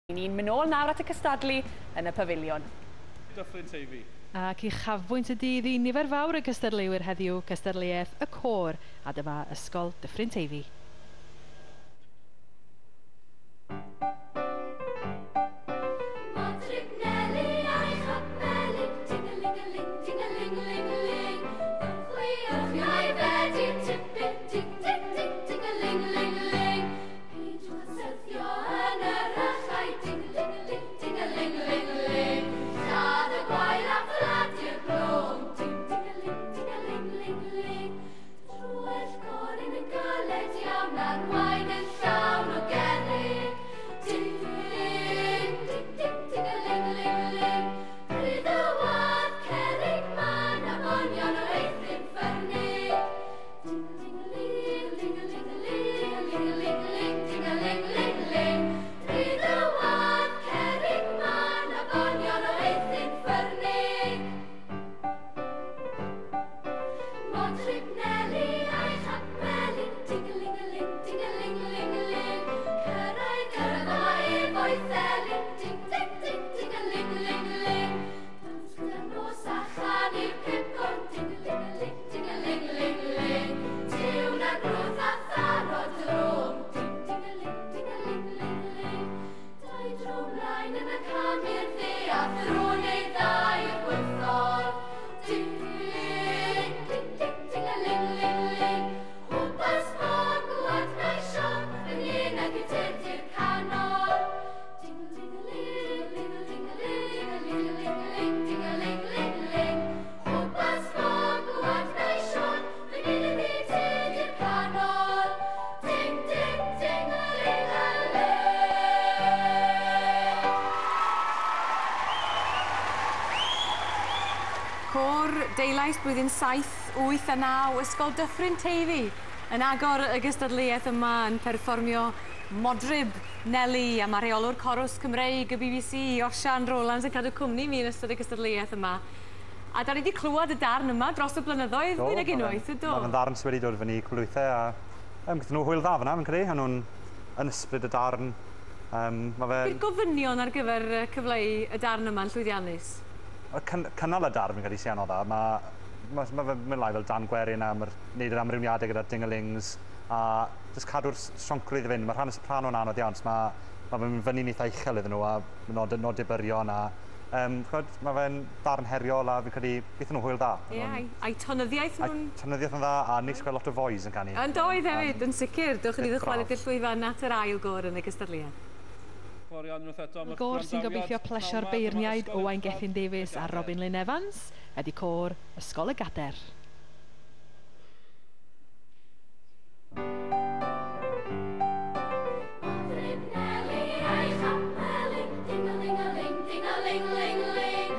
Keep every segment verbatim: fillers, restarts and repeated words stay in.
Ni'n mynd nôl nawr at y cystadlu yn y pafiliwn. Dyffryn Teifi. Ac uchafbwynt y dydd i nifer fawr y cystadleuwyr heddiw, cystadleuaeth y côr, a dyma Ysgol Dyffryn Teifi. Deulais blwyddyn saith, wyth a naw, Ysgol Dyffryn Teifi yn agor y gystadleuaeth yma yn perfformio Modryb Neli, a mae rheolwr Corws Cymreig y B B C, Osian Rowlands, yn cadw cwmni mi yn ystod y gystadleuaeth yma. A da ni wedi clywed y darn yma dros y blynyddoedd, mwy nag unwaith, ydw? Mae'n ddarn sydd wedi dod fyny cwpl o weithiau, a um, gyda nhw hwyl dda fyna, fi'n credu, a nhw'n yn ysbryd y darn. Um, ma fe... Bydd gofynion ar gyfer cyfleu y darn yma'n llwyddiannus? Cynnal y darn fi'n credu sy'n anodd. Mae ma, ma fe'n mynd lai fel Dan Gwerin a mae'r wneud yr amrywiadau gyda'r dingalings a jyst cadw'r sioncrwydd i fynd. Mae rhan y soprano'n anodd iawn, so mae ma fe'n mynd fyny'n eitha uchel iddyn nhw a nod, nod byrion a um, chod, mae fe'n darn heriol a fi'n credu gaethon nhw hwyl dda. Ie, yeah, a'i tonyddiaeth nhw'n... A'i tonyddiaeth yn dda a neis gweld lot o fois yn canu. Yn doedd hefyd, yn sicr. Dewch i ni ddychwelyd i'r llwyfan at yr ail gôr yn y gystadleuaeth. Y gôr sy'n gobeithio plesio'r beirniaid Owain Gethin Davies a Robin Lynn Evans ydy côr Ysgol y Gader. Ding-a-ling, ding-a-ling, ling-a-ling.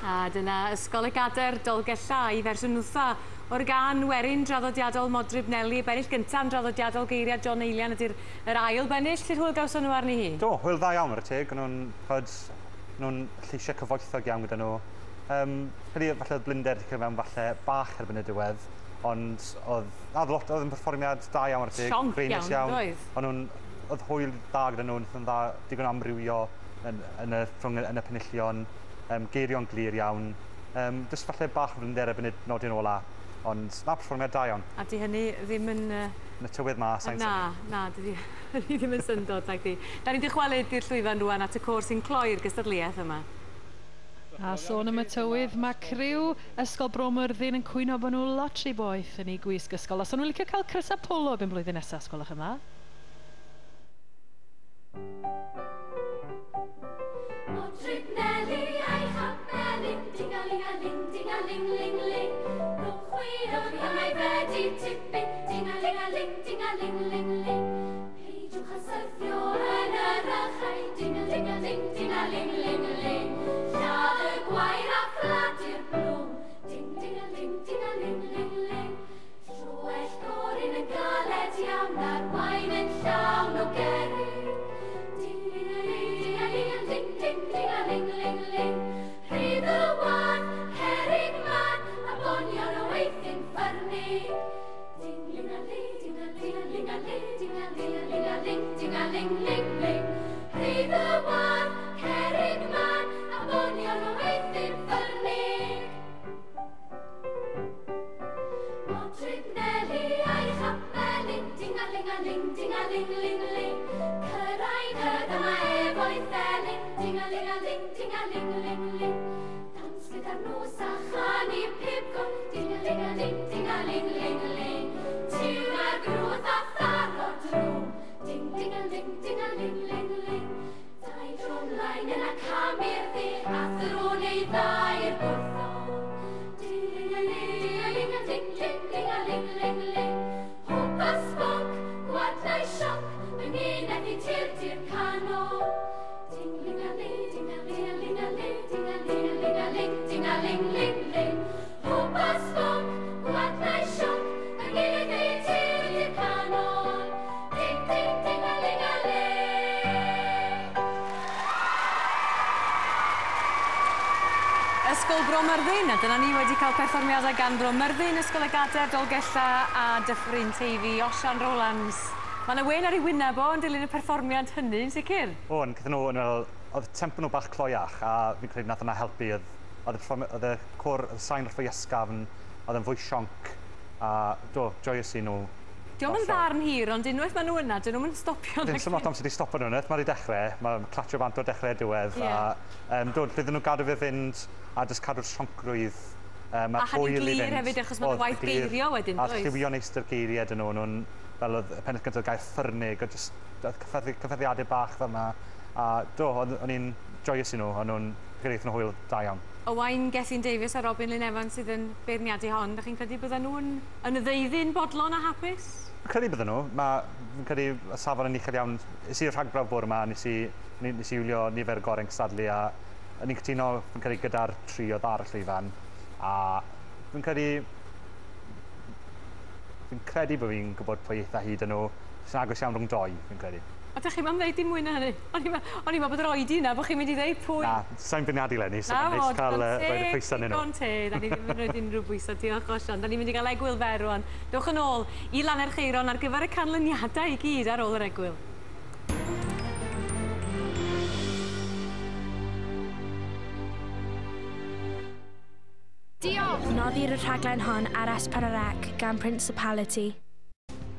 A dyna Ysgol y Gader Dolgellau i fersiwn wtha o'r gan werin draddodiadol Modryb Neli. Bennill gyntaf yn draddodiadol geiriau John Eilian ydy'r yr ail bennill. Sut hwyl gawson nhw arni hi? Do, hwyl dda iawn ar y teg. Nhw'n nhw'n lleisiau cyfoethog iawn gyda nhw. Um, credu falle oedd blinder wedi cyrraedd mewn falle bach erbyn y diwedd, ond oedd, na, oedd lot, oedd yn perfformiad da iawn ar y teg. Sionc iawn, iawn, doedd? Ond nhw'n, oedd hwyl dda gyda nhw, wnaethon dda digon amrywio yn, yn, y, rhwng, yn y penillion, um, geirio'n glir iawn. Um, jyst falle bach o blinder erbyn y nodyn ola, ond na, perfformiad da iawn. A di hynny ddim yn... Yn y tywydd ma, sa'n Na, na, dydi hynny ddim yn syndod, nag di. Da ni'n dychwelyd i'r llwyfan rwan at y côr sy'n cloi'r gystadleuaeth yma. A sôn am y tywydd, mae criw Ysgol Bro Myrddin yn cwyno bod nhw lot rhy boeth yn eu gwisg ysgol. Os o'n nhw'n licio cael crysau polo erbyn blwyddyn nesaf, gwelwch yn dda. Modryb Neli a'i chapeli, ding-a-ling-a-ling, ding-a-ling-ling-ling. Rhwng chwilio am ei fedi tipyn, ding-a-ling-a-ling, ding-a-ling-ling-ling. Peidiwch â syrthio yn yr achau, ding-a-ling-a-ling, ding-a-ling-ling-ling. Lladd y gwair a phladu'r blwm, ding-ding-a-ling, ding-a-ling-ling-ling. Troell goryn yn galed iawn a'r wain yn llawn o gerrig. Ding-a-ling, ding-a-ling-a-ling, ding-ding-a-ling-ling-ling. Rhydd y wan, cerrig man, a bonion o weithyn ffyrnig. Ding-ling-a-ling, ding-a-ling-a-ling, ding-a-ling-a-ling, ding-a-ling-ling-ling. Rhydd y wan, cerrig man, a bonion o weithyn ffyrnig. Modryb Neli a'i chapeli, ding-a-ling-a-ling, ding-a-ling-ling-ling. Cyrraedd y dyma efo'i thelyn, ding-a-ling-a-ling, ding-a-ling-ling-ling. Dans gyda'r nos a chanu pibgod, ding-a-ling-a-ling, ding-a-ling-ling-ling. Tiwn a'r grwdd a tharo drwm, ding-ding-a-ling, ding-a-ling-ling-ling. Dau dro mlaen yna cam i'r dde, a thro neu ddau i'r gwrthon. Ding-a-ling, ding-a-ling-a-ling, ding-a-ling-ling-ling. Hwp a sbonc, gwadlau sioc, fy ngeneth i tir tir canol. Ding-ling-a-ling, ding-a-ling-a-ling-a-ling, ding-a-ling-a-ling-a-ling, ding-a-ling-ling-ling. Hwp a sbonc, gwadlau sioc, fy ngeneth i tir tir canol. Ding, ding, ding-a-ling-a-ling. Ysgol Bro Myrddin, a dyna ni wedi cael perfformiadau gan Bro Myrddin, Ysgol y Gader, Dolgellau a Dyffryn Teifi, Osian Rowlands. Mae yna wen ar ei wyneb o yn dilyn y perfformiad hynny, yn sicr. O, yn gyda nhw, yn meddwl, oedd tempo nhw bach cloiach, a fi'n credu nath yna helpu. Oedd, oedd, y, oedd y côr, oedd y sain wrth fwy ysgafn, oedd yn fwy sionc, a do, joyous i nhw. Dio'm yn ddarn hir, ond unwaith maen nhw yna, dyn nhw'm yn stopio. Dim sy'n lot amser di stopo nhw, unwaith mae wedi dechrau, mae'n clatio bant o'r dechrau diwedd, yeah. A um, do, llwydden nhw gadw fe fynd a jyst cadw'r sioncrwydd. Um, a hynny'n glir hefyd, achos mae'n waith geirio wedyn, does? A lliwio neis dy'r geiriau dyn nhw, nhw'n, fel oedd y pennill gyntaf gair ffyrnig, a jyst cyffyrddiadau bach fel yna. A do, o'n i'n joyous i nhw, o'n nhw'n credu nhw hwyl da iawn. Owain Gethin Davies a Robin Lyn Evans sydd yn beirniadu hon, dach chi'n credu bydden nhw'n yn y ddeuddyn bodlon a hapus? Fi'n credu bydden nhw. Ma, fi'n credu y safon yn uchel iawn. Nes i'r rhagbrawf bore yma, nes i, nes i wylio nifer gorau'n cystadlu a o'n i'n cytuno, fi'n credu, gyda'r tri oedd ar y llwyfan. A fi'n credu, fi'n credu bod fi'n gwybod pwy eitha hyd yn nhw. Sy'n agos iawn rhwng doi, fi'n credu. A dych chi'm am ddeud dim mwy na hynny? O'n i'n meddwl bod yr oedi yna, bod chi'n mynd i ddeud pwy. Na, sa'n beirniadu leni, so mae'n neis cael rhoid y pwysau yn nhw. Digon teg, da ni ddim yn rhoi unrhyw bwysau, diolch Osian. Da ni'n mynd i gael egwyl fer rwan. Dewch yn ôl i Lanercheiron ar gyfer y canlyniadau i gyd ar ôl yr egwyl. Diolch! Noddir y rhaglen hon ar S pedwar C gan Principality.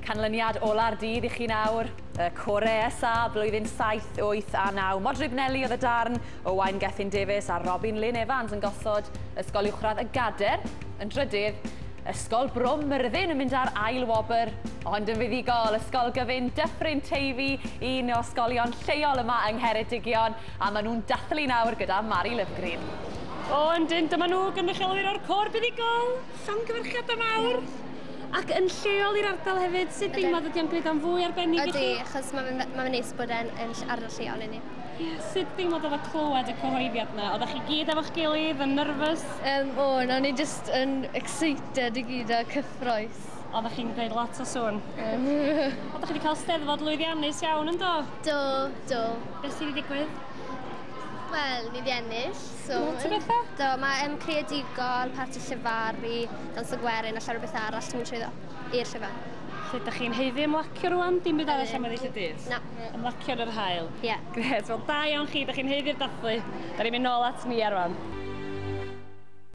Canlyniad ola'r dydd i chi nawr, y Core S A, blwyddyn saith, wyth a naw. Modryb Neli oedd y darn, Owain Gethin Davies a Robin Lyn Evans yn gosod Ysgol Uwchradd y Gader yn drydydd. Ysgol Bro Myrddin yn mynd ar ail wobr, ond yn fuddugol Ysgol Gyfun Dyffryn Teifi, un o ysgolion lleol yma yng Ngheredigion, a maen nhw'n dathlu nawr gyda Mari Lyfgreen. O, yndyn, dyma nhw gynrychiolwyr o'r côr buddugol. Llongyfarchiadau mawr. Ac yn lleol i'r ardal hefyd, sut deimlad ydy o'n gwneud o'n fwy arbennig i chi? Ydy, achos mae'n ma neis bod e'n yn ardal lleol i ni. Ie, sut deimlad oedd o clywed y cyhoeddiad yna? Oeddech chi gyd efo'ch gilydd yn nervous? Um, o, o'n i just yn excited i gyd a cyffrous. Oeddech chi'n gwneud lot o sŵn? Oeddech chi wedi cael steddfod lwyddiannus iawn yn do? Do, do. Beth sydd wedi digwydd? Wel, ni wedi ennill. So, Lot o bethau? Do, mae um, creadigol, parti llefaru, dans y gwerin a llawer o bethau arall sy'n mynd trwyddo i'r llyfr. Lle ydych chi'n haeddu ymlacio rwan? Dim byd arall am weddill y dydd? Na. Ymlacio yn yr haul? Ie. Yeah. Gret, wel da iawn chi, ydych chi'n haeddu'r dathlu. Da ni'n mynd nôl at ni rwan.